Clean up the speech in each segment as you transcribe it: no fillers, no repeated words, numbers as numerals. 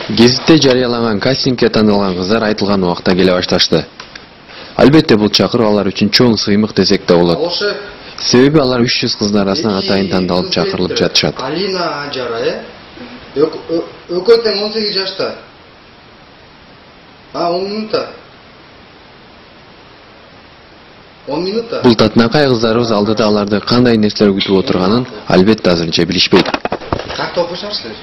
Гезитте жарыяланган кастингге тандалган кыздар айтылган убакта келе башташты. Албетте бул чакыруу алар үчүн чоң сыймык десек да болот. Себеби алар 300 кыздын арасынан атайын тандалып чакырылып жатышат. Алина Жара, экөө тең 18 жашта. 10 минутта. 10 минутта. Бул татынакай кыздарыбыз алдыда аларды кандай нерселер күтүп отурганын албетте азырынча билишпейт. Как окушасыздар?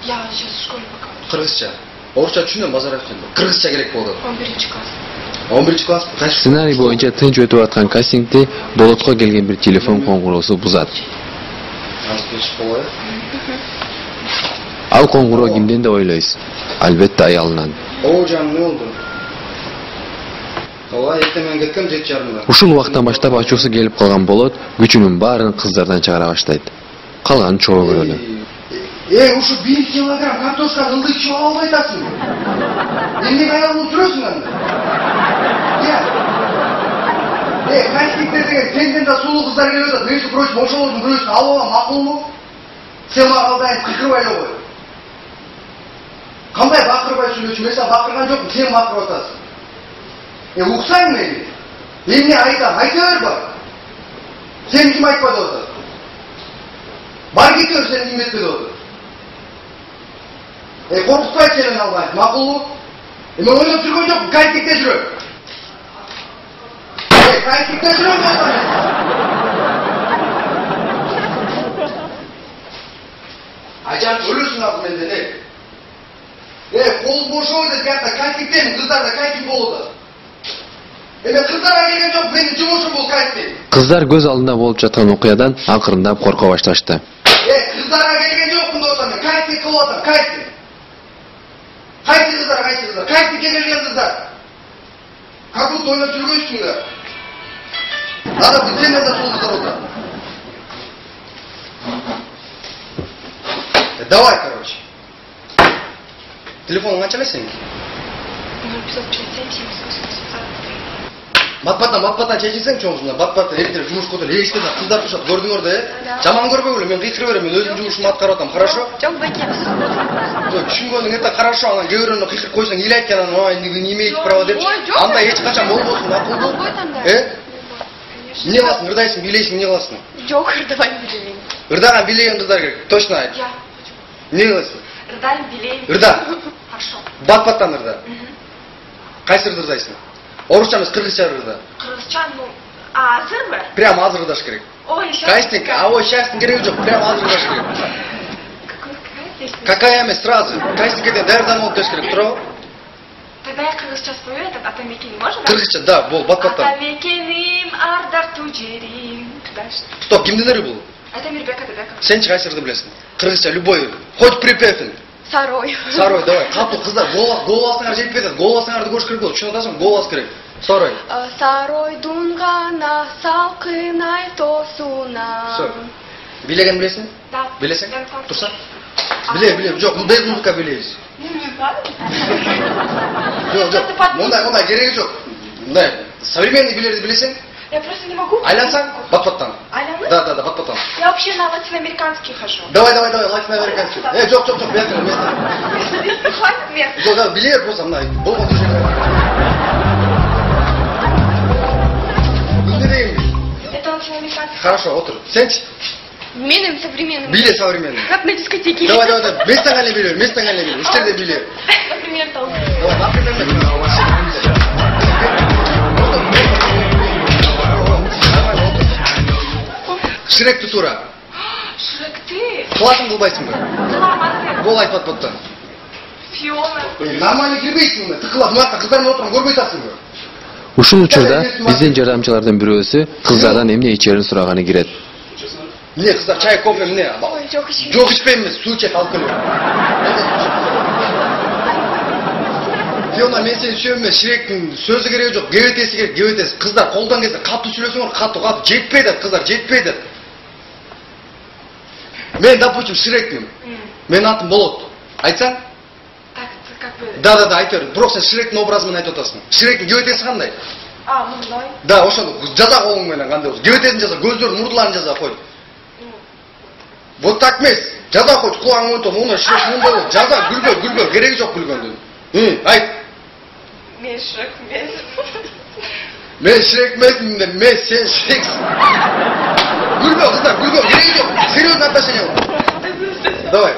Я сейчас в школе пока. Кыргызча. Орусча түшүнөм, базар айтчын. Кыргызча керек болду. 11 класс. 11 класс. Сценарий боюнча тынч өтүп аткан кастингди болотко келген бир телефон коңгуроосу бузат. Ал коңгуроо кимден деп ойлойсуз? Албетте аялынан. О, жаным, не болду? Ооба, эртең менен кеткем 7:30. Ушул убактан баштап ачуусу келип калган болот, күчүнүн баарын кыздардан чыгара баштайт. Калганын чогуу көрөлү. Ушу 1 килограмм картошка ылдый чыгып албай атасың. Эмне аялыңды турасың анда? Кастингде деген сенден да сулуу кыздар келип атат. Между прочим, ошолордун бирөөсүн алып алам, макулбу? Сен мага дайым кыйкырбай эле кой. Кандай бакырбай сүйлөшүм? Мен бакырган жокмун, сен бакырып атасың. Уксаң мени? Эмне айтам? Айта бер бар. Сен ким айтпады атат? Бар кете бер, сен ким этпеди атат? Коркутпай сенен албайт, макулбу? Мен ойлоп жүргөн жокмун, кастингде жүрөм. Кастингде жүрөм мен. Ажар өлөсүң ал менден, кол бошоо деп жатса кастингден кыздарда кастинг болду. Мен кыздарга келген жок, менин жумушум бул кастинг. Кыздар көз алдында болуп жаткан окуядан акырындап корко башташты. Кыздарга келген жокмун деп атам, мен кастинг кылып атам, кастинг. Кайсы кыздар, кастингге келген кыздар. Как будто ойлоп жүрбөйсүңөр. Ада бүтөндө да сол кыздар отурат. Давай, короче. Телефонун канча эле сенин? 0567 78 Батпаттан чечилсең чоңусунда, батпаттан эртерээк жумушка отуруп, эшикте кыздар турушат, көрдүңөр да, Жаман көрбөй эле, мен кыйкырып берем, мен өзүмдүн жумушумду аткарып атам, хорошо? Жок, бакем. Түшүнгөнүң это хорошо, анан кээ бирөөнө кыйкырып койсоң, ил айткан анан, ой, не имеете права деп. Андай эч качан болбосун, макулбу? Эмне кыласың, ырдайсың, бийлейсиң, эмне кыласың? Жок, ырдабайм, билейм. Ырдаган бийлеген кыздар керек, точно айт. Я. Эмне кыласың? Ырдайм, билейм. Ырда. Хорошо. Батпаттан ырда. Кайсы ырдайсың? Орусча эмес, кыргызча ырда. Кыргызча, азырбы? Прямо азыр ырдаш керек. Ой, сейчас. Кастинг, сейчас кереги жок, прямо азыр ырдаш керек. Какая эмес, сразу. Кастингге даярданып алып кеш керек, туурабы? Тогда я кыргызча спою, этот Атамекени можно? Кыргызча, да, бол, батпаттан. Атамекеним, ардактуу жерим. Дальше. Стоп, кимдин эри бул? Это Мирбек. Сенчи кайсы ырды билесиң? Кыргызча, любой. Хоть припевин. Сарой. Сарой, давай. Катуу кыздар, голубасыңар жетпей атат. Голубасыңарды көрүш керек болот. Түшүнүп атасыңбы? Голубас керек. Сарой. Саройдун гана салкын айтосуна. Всё. Билеген билесиң? Да. Билесиң? Турса? Билем. Жок, без музыка билебиз. Жок. Мындай кереги жок. Мындай современный билерди билесиң? Я просто не могу. Айлансаң? Батпаттан. Айланып? Да, батпаттан. Я вообще на латиноамериканский хожу. Давай, латиноамериканский. Жок, место. Хватит места. Жок, да, билер просто мындай. Болгон движение. Эмне дейм? Это латиноамериканский. Хорошо, отур. Сенчи? Менин современным. Биле современный. Как на дискотеке. Давай. Местоңа биле. Иштерде биле. Например, там. Давай, например. Шрек тутура. Шрек ты? Кыласың кылбайсыңбы? Кыламын. Бол айт батпаттан. Фиона. Нормально кирбейсиң мына, тыкылап, мынакка кыздар менен отурган көрбөй атасыңбы? Ушул учурда биздин жардамчылардын бирөөсү кыздардан эмне ичерин сураганы кирет. Эмне кыздар, чай, кофе эмне? Ой, жок ичпейм. Жок ичпейм эмес, суу ичет, алып келем. Фиона, мен сени сүйөм эмес, Шректин сөзү кереги жок, кебетеси керек, кебетеси. Кыздар колдон келсе катуу сүйлөсөңөр, катуу жетпей атат, кыздар жетпей атат. Мен, допустим, Шрекмин. Менин атым болот. Айтсаң? Так, как бы. Да, айт бер. Бирок сен Шректин образы менен айтып атасың. Шректин кебетеси кандай? Мындай. Да, ошону жаза колуң менен кандай болсо. Кебетесин жаза, көздөрүн, мурдуларын жаза кой. Вот так эмес. Жаза койчу, кулаң монто, муну Шрек мындай. Жаза, күлгө, кереги жок күлгөндүн. Айт. Мен Шрек эмес. Мен Шрек эмесмин, мен сен Шрексиң. Күлгө, кыздар, күлгө, кереги жок. Серьезный отношение бар. Давай.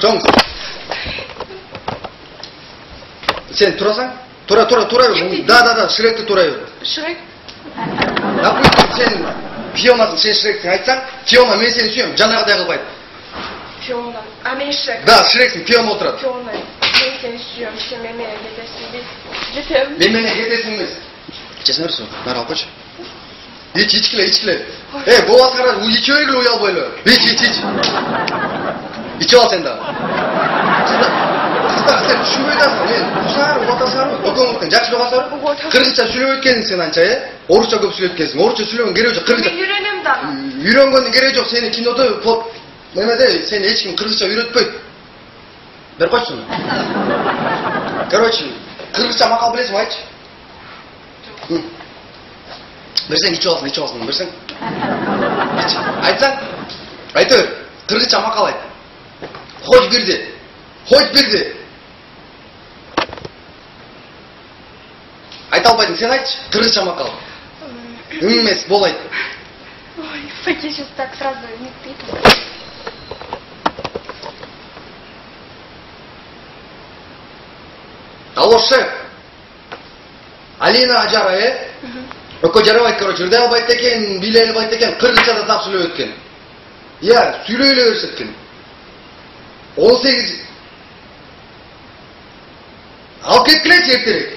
Жоң. Сен турасаң? Тура бер. Да, Шректи тура бер. Шрек? Допустим, сен Фионасың, сен Шрексиң айтсаң, Фиона мен сени сүйөм, жанагыдай кылбайт. Фиона. А мен Шрек. Да, Шрексиң, Фиона отурат. Фиона. Мен сени сүйөм, сен менен кетесиң. Жетем. Мен менен кетесиң эмес. Чечине берсиң, баары алып койчу. Ичкиле. Болбаса кара, иче бергиле уй албайлы. Ич. Ичип ал сен да. Кыздар, сен түшүнбөй атасың. Мен ушаар, убатасыңарбы? Өкөңүздүн жакшы жогасыңарбы? Кыргызча сүйлөп өткөнсүң сен анча, Орусча көп сүйлөп өткөнсүң. Орусча сүйлөгөн кереги жок. Кыргызча. Мен үйрөнөм да. Үйрөнгөндүн кереги жок. Сени кинодо немеде сени эч ким кыргызча үйрөтпөйт. Бер койчу. Короче, кыргызча макал билесиңби, айтчы. Берсең ичип алсың, берсең. Айтсаң, айта бер. Кыргызча макал айт. Хоть бирди. Айта албайсың, сен айтчы. Кыргызча макал. Эмес, бол айт. Ой, Факи сейчас так сразу не ты. Алло, шеф. Алина Ажара, Өкө жарабайт, короче, ырдай албайт экен, биле албайт экен, кыргызчада так сүйлөп өткөн. Сүйлөй эле берсеткин. 18. Алып кеткилечи эртерээк.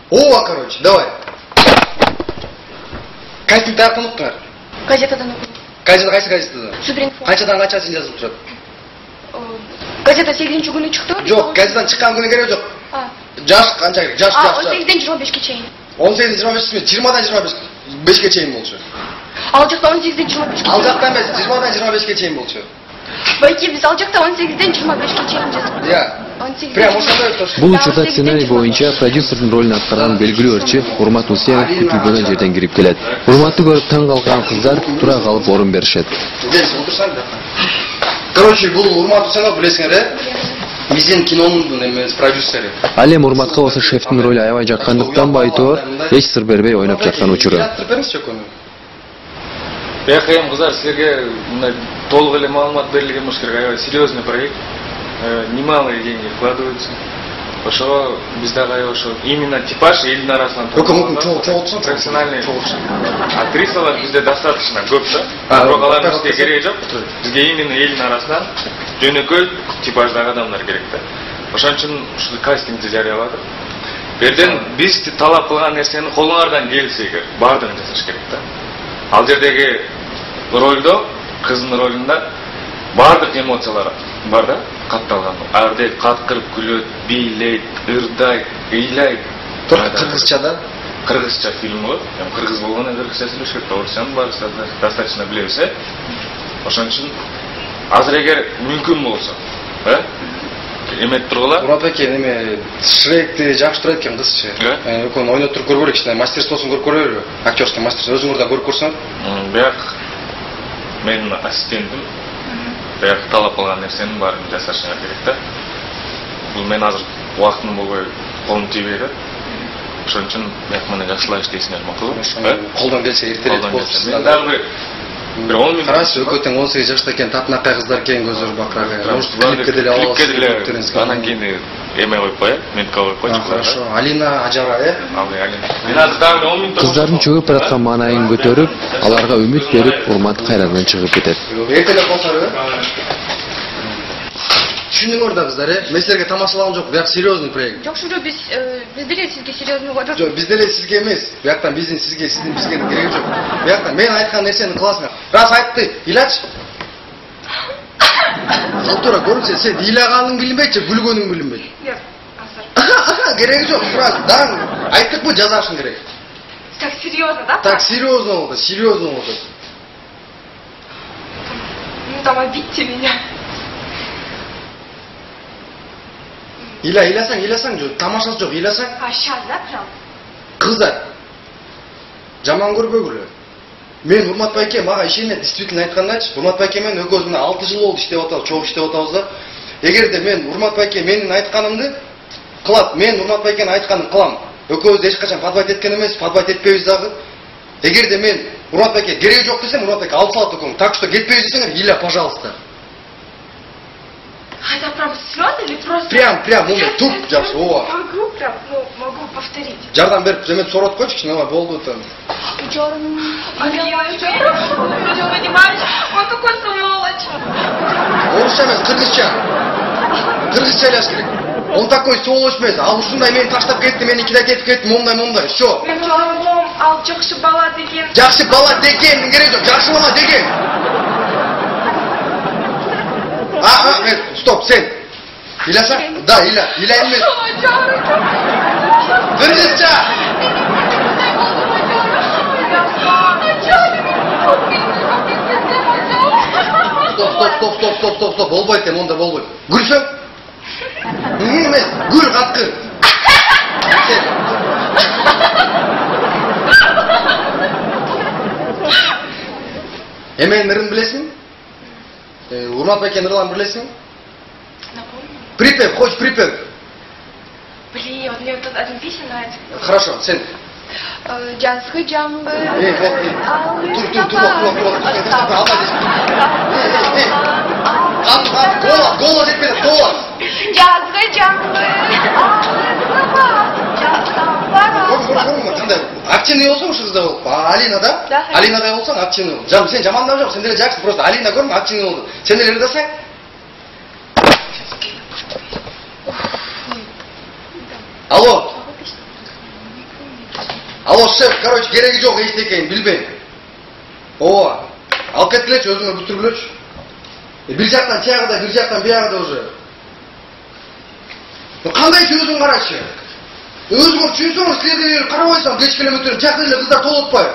Короче, давай. Кастинг таркын уктуңар. Газетадан окудум. Кайсы газетада? Супринфо. Канчадан канчасын жазылып турат? Газета 8-күнү чыкты. Жок, газетадан чыккан күнү керек жок. Жаш канча керек? Жаш. 18-ден 25-ке чейин. 18-ден 25-ке, 20-дан 25-ке чейин болчу. Ал жакта 18-ден 25-ке. Ал жакта эмес, 20-дан 25-ке чейин болчу. Байки биз ал жакта 18-ден 25-ке чейин жаздык. Прямо ошондой өттү. Бул учурда сценарий боюнча продюсердин ролун аткарган белгилүү ырчы Урмат Усенов күтүлбөгөн жерден кирип келет. Урматты көрүп таң калган кыздар тура калып орун беришет. Короче, бул Урмат Усенов билесиңер, биздин кинонун эмес продюсери. Ал эми Урматка болсо шефтин ролу аябай жаккандыктан байтоор эч сыр бербей ойноп жаткан учуру. Бияқайым қыздар, сіздерге толық эле маалымат берилген болуш керек. Аябай серьезный проект. Немалые деньги вкладываются. Ошо биздагы аябай ошо именно типаж элдин арасынан профессиональный актрисалар бизде достаточно көп да. Бирок алардын бизге кереги жок. Бизге именно элдин арасынан жөнөкөй типаждагы адамдар керек да. Ошон үчүн ушул кастингди жарыяладык. Берден биз талап кылган нерсени колуңардан келсе эгер баардыгын жасаш керек да. Ал жердеги ролдо, кыздын ролунда баардык эмоциялар бар да, катталган. Ардек каткырып күлөт, бийлейт, ырдайт, ыйлайт. Кыргызчада? Кыргызча фильм болот. Кыргыз болгондо кыргызча сүйлөш керек. Орусчаны баарыбыз достаточно билебиз, Ошон үчүн азыр эгер мүмкүн болсо, эметип тургула. Мурат эке, неме Шректи жакшы турат экен кызчы. Өкөн ойноп туруп көргөлө, кичине мастерствосун көрүп көрөлүбү? Актерский мастерство өзүңөр да көрүп көрсөңөр. Бияк менин ассистентим бияк талап кылган нерсенин баарын жасашыңар керек да. Бул мен азыр убактым болбой колум тийбей да. Ошон үчүн бияк менен жакшылап иштейсиңер макулбу? Колдон келсе эртерээк болсун. Дагы бир 10 минут. Карачы, өкөтөң 18 жашта экен, татынакай кыздар экен, көздөр бакырак. Может, клипке деле алабыз. Анан кийин эме коюп коёт, ментка коюп койчу. Хорошо. Алина Ажара, Алина. Мен азыр дагы 10 минут. Кыздардын чөгүп бараткан маанайын көтөрүп, аларга үмүт берип, Урмат кайрадан чыгып кетет. Эртелеп болсорбу? Түшүндүңөр да кыздар, Мен силерге тамашалаган жок, бияк серьезный проект. Жок, шура биз деле сизге серьезный коёбуз. Жок, биз деле сизге эмес. Бияктан биздин сизге, сиздин бизге кереги жок. Бияктан мен айткан нерсени кыласыңар. Рас айтты, ыйлачы. Салтура көрүнсө, сен ыйлаганың билинбейт же, күлгөнүң билинбейт. Жок, азыр. Кереги жок, тура. Даң айттыкпы, жазашың керек. Так серьезно, да? Так серьезно болду, серьезно болду. Ну там обидьте меня. Ыйласаң жок, тамашасы жок, ыйласаң. А сейчас, да, прям? Кыздар. Жаман көрбөгүлө. Мен Урмат байке мага ишене, действительно айткандачы. Урмат байке менен экөөбүз мына 6 жыл болду иштеп атабыз, чогуу иштеп атабыз да. Эгерде мен Урмат байке менин айтканымды кылат, мен Урмат байкенин айтканын кылам. Экөөбүз эч качан подбайт эткен эмес, подбайт этпейбиз дагы. Эгерде мен Урмат байке кереги жок десем, Урмат байке алып салат экөөм. Так что кетпейбиз десеңер, Иля, пожалуйста. Это прям слёзы или просто... Прям, мындай туп жакшы, ооба. Могу прям, ну, могу повторить. Жардам берип, жеме сорот койчу, кичине болду там. Я понимаешь, он такой сволочь. Орусча эмес, кыргызча. Кыргызча элеш керек. Он такой сволочь эмес. Ал ушундай мени таштап кетти, меникиде кетип кетти, момундай. Всё. Мен жолом, ал жакшы бала деген. Жакшы бала деген, кереги жок, жакшы бала деген. Стоп, сен. Иляса? Да, Иля эмес. Кыргызча. Стоп, болбойт, монда болбойт. Гүлсөң? Эмес, гүл каткыр. Эменин ырын билесиңби? Урмат байкенин ырларын билесиңби? Напомню. Припев, хочешь припев? Блин, вот мне вот тут один песня нравится. Хорошо, сен. Жазгы жаңбыр. Тур. Голос жетпеді, голос. Жазгы жаңбыр. Қандай активный болсаң ушу кызда болуп. Алина да? Алинадай болсаң активный бол. Сен жамандап жок, сен деле жакшы, просто Алина көрмө активный болду. Сен деле ырдасаң. Алло, шеф, короче, кереги жок эчтекейин билбейм. Ооба. Алып кеткилечи, өзүңөр бүтүргүлөчү. Бир жактан тиягыда, бир жактан биягыда уже. Кандай өзүң карачы? Өзүңөр түшүнсөңөр, силерге карабайсам, кечке эле өтөрүм, жакта эле кыздар толуп атпайбы?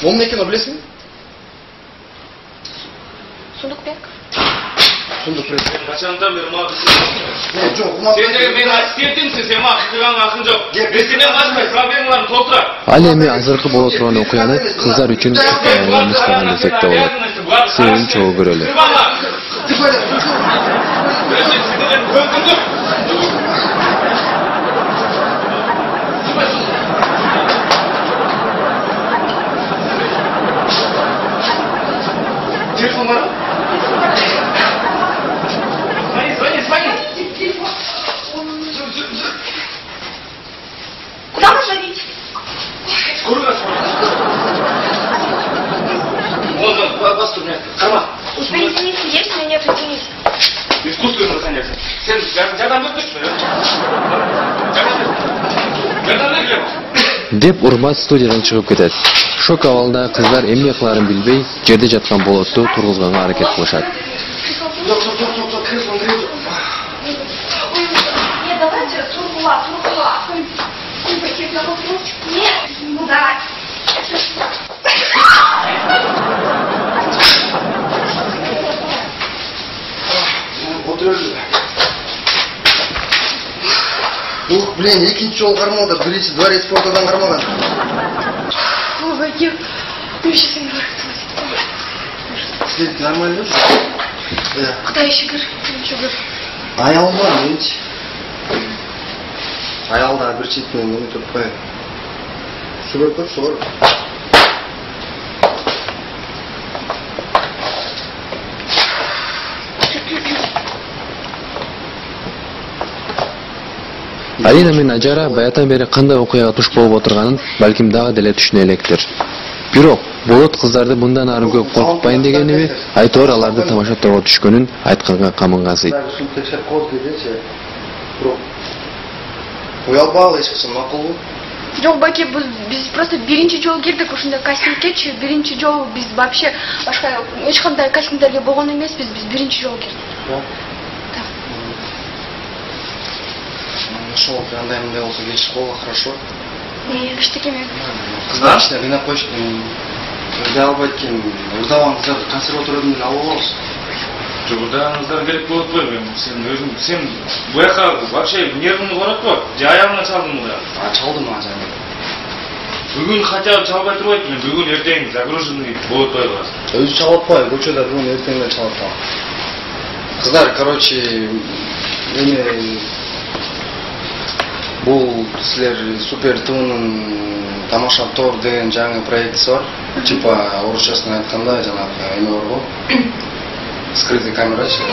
Момун экени билесиңби? Сундукбек. Сундукбек. Качандан бери мага жок, сен менин ассистентимсиң, сен мага кызганга акың жок. Сенен башка проблемаларым толтурат. Ал эми азыркы боло турган окуяны кыздар үчүн эместаган десек да болот. Себебин чогуу көрөлү. Телефон бар? Звони. Куда вы звоните? Скорую Вот, вас тут нет. Карма. Извините, есть, но нет, извините. Искусственно заняться. Сен жардам бербейсиңби? Жардам бергиле. Деп Урмат студиядан чыгып кетет. Шок абалда кыздар эмне кыларын билбей, жерде жаткан болотту тургузганга аракет кылышат. Жок, кресло. Нет, давайте тургула. Нет, давай. Ух, блин, экинчи жолу кармоодо, биринчи дворец спортадан кармаган. Ой, я сейчас не говорю. Сен нормально жүрсүң? Куда еще говорю? Аялым бар, менчи. Аялда бир четинен мени туруп коет. Су берип коет, су бар. Алина менен Ажара баятан бери кандай окуяга туш болуп отурганын балким дагы деле түшүнө электир. Бирок болот кыздарды мындан ары көп коркутпайын дегениби, айтор аларды тамашаттоого түшкөнүн айтканга камынгансыйт. Ушуну текшерип коет дегенчи. Бирок уялбагыла эч качан макулбу? Жок, баке, биз просто биринчи жолу кирдик ушундай кастингкечи. Биринчи жолу биз вообще башка эч кандай кастингдерге болгон эмеспиз. Биз биринчи жолу кирдик. Нашел, андай мындай болсо кетишип койгула, хорошо. Эчтеке мен. Кыздар, ичине кыйнап коюш. Ырдай албайт экен. Ырдабан кыздар консерваториядан алып алабыз. Жок, ырдагаңыздар керек болуп атпайбы? Сен буяка вообще нервыңды каратпа. Же аягыңа чалдың да. Чалдым ага жаңы. Бүгүн хотя бы чалбай турбайт элем. Бүгүн эртең загруженный болуп атпайбы? Өзү чалып атпайбы, көчөдө бүгүн эртеңден чалып атам. Кыздар, короче, эми бул силер Супер ТВнын Тамаша Тор деген жаңы проектиси бар. Типа орусчасын айтканда жанагы эме бар го. Скрытый камерачы.